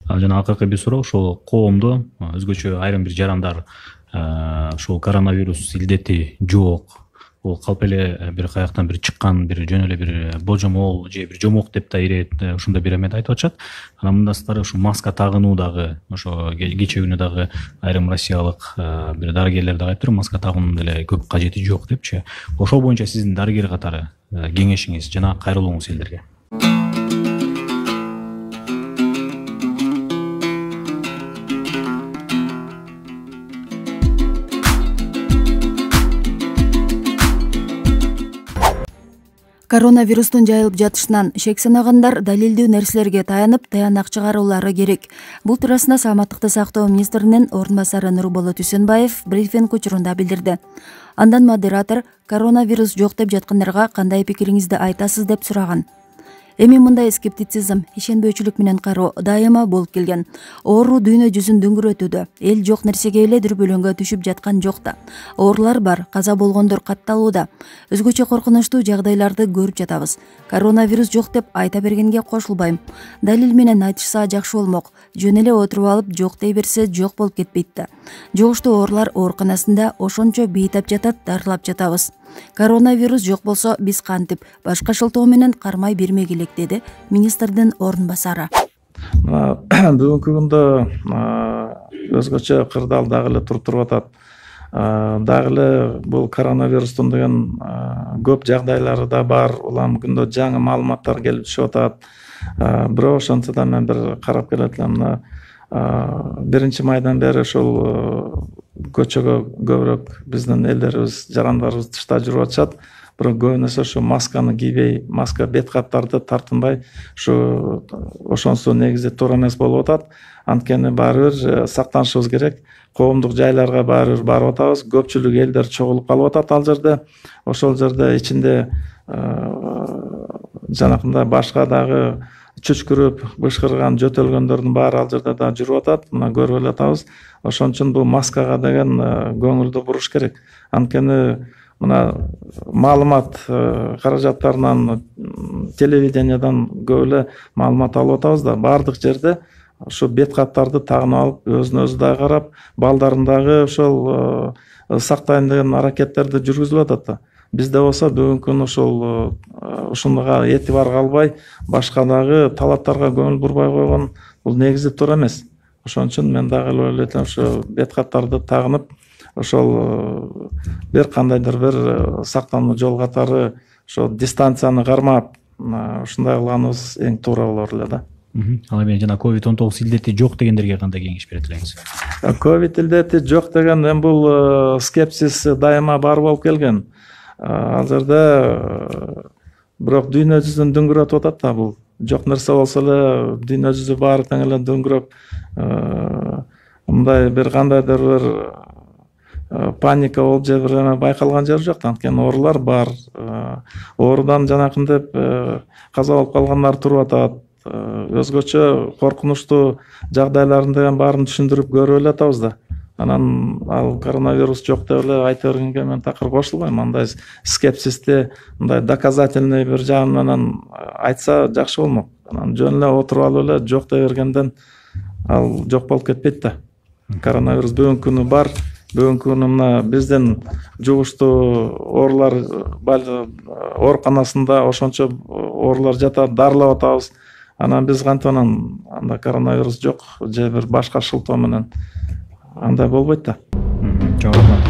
Жана акыркы бир суроо ошол коомдо өзгөчө айрым бир жарандар ушул коронавирус илдети жок, бул калп эле бир каяктан бир чыккан бир жөн эле бир божомол же бир жомок деп да ирет ушундай бир эмети айтып атышат. Анан мындан сырткары ушу маска тагынуу дагы ошо кечээ күнү дагы айрым россиялык бир дарыгерлер дагы айтыптыр, маска тагуунун деле көп кажети жок депчи. Ошол боюнча сиздин дарыгер катары кеңешиңиз жана кайрылууңуз элдерге? Коронавирустун жайылып жатышынан шек санагандар далилдүү нерселерге таянып, таянак чыгаруулары керек. Бул туурасында Саламаттыкты сактоо министринин орун басары Нурболот Үсөнбаев брифинг учурунда билдирди. Андан модератор коронавирус жок деп жаткандарга кандай пикириңизди айтасыз деп сураган. Эми мындай скептицизм, ишенбөөчүлүк менен кароо дайыма болуп келген. Оору дүйнө жүзүн дүңгүрөтүүдө. Эл жок нерсеге эле дүрбөлөңгө түшүп жаткан жок да. Оорулар бар, каза болгондор катталууда. Өзгөчө коркунучтуу жагдайларды көрүп жатабыз. Коронавирус жок деп айта бергенге кошулбайм. Далил менен айтышса жакшы болмок. Жөн эле отуруп алып жок дей берсе жок болуп кетпейт да. Жугуштуу оорулар ооруканасында ошончо бейтап жатат, дарылап жатабыз. Коронавирус жок болсо биз кантип башка шылтоо менен кармай бермек элек, деди министрдин орун басары. Бүгүнкү күндө өзгөчө кырдаал дагы эле туруп атат. Дагы эле бул коронавирустун деген көп жагдайлары да бар. Улам күндө жаңы маалыматтар келип түшүп атат. Бирок ошентсе да мен бир карап келет элем. 1 майдан бери ушул көчөгө көбүрөөк биздин элдерибиз, жарандарыбыз тышта жүрүп атышат. Бирок көбүнесе ушу масканы кийбей, маска бет каптарды тартынбай, ошонусу негизи туура эмес болуп атат. Анткени баары бир сактанышыбыз керек. Коомдук жайларга баары бир барып атабыз. Көпчүлүк элдер чогулуп калып атат ал жерде. Ошол жерде ичинде жанакындай башка дагы чүчкүрүп, бышкырган, жөтөлгөндөрдүн баары ал жерде да жүрүп атат. Мына көрүп эле атабыз. Ошон үчүн бул маскага деген көңүлдү буруш керек. Анткени мына маалымат каражаттарынан, телевидениядан көп эле маалымат алып атабыз да, баардык жерде ушу бет каптарды тагынып алып, өзүн өзү дагы карап, балдарын дагы ошол сактайын деген аракеттерди жүргүзүп атат да. Бизде болсо бүгүнкү күнү ушул ушунга этибар калбай, башка дагы талаптарга көңүл бурбай койгон бул негизи туура эмес. Ошон үчүн мен дагы ойлойт элем ушу бет каптарды тагынып, ошол бир кандайдыр бир сактануу жол катары ошол дистанцияны кармап, ушундай кылганыбыз эң туура болор эле да. Ал эми жана COVID-19 илдети жок дегендерге кандай кеңеш берет элеңиз? Ковид илдети жок деген эми бул скепсис дайыма бар болуп келген. Ал жерде бирок дүйнө жүзүн дүңгүрөтүп атат да, бул жок нерсе болсо эле дүйнө жүзү баары тең эле дүңгүрөп, мындай бир кандайдыр бир паника болуп же бир эме байкалган жери жок. Анткени оорулар бар. Оорудан жанакынтип каза болуп калгандар туруп атат. Өзгөчө коркунучтуу жагдайларын деген баарын түшүндүрүп көрүп эле атабыз да. Анан ал коронавирус жок деп эле айта бергенге мен такыр кошулбайм. Андай скепсисти мындай доказательный бир жагы менен айтса жакшы болмок. Анан жөн эле отуруп алып эле жок деп бергенден ал жок болуп кетпейт да. Коронавирус бүгүнкү күнү бар. Бүгүнкү күнү мына биздин жугуштуу оорулар ооруканасында ошончо оорулар жатат, дарылап атабыз. Анан биз кантип анда коронавирус жок же бир башка шылтоо менен андай болбойт да. Чоң рахмат.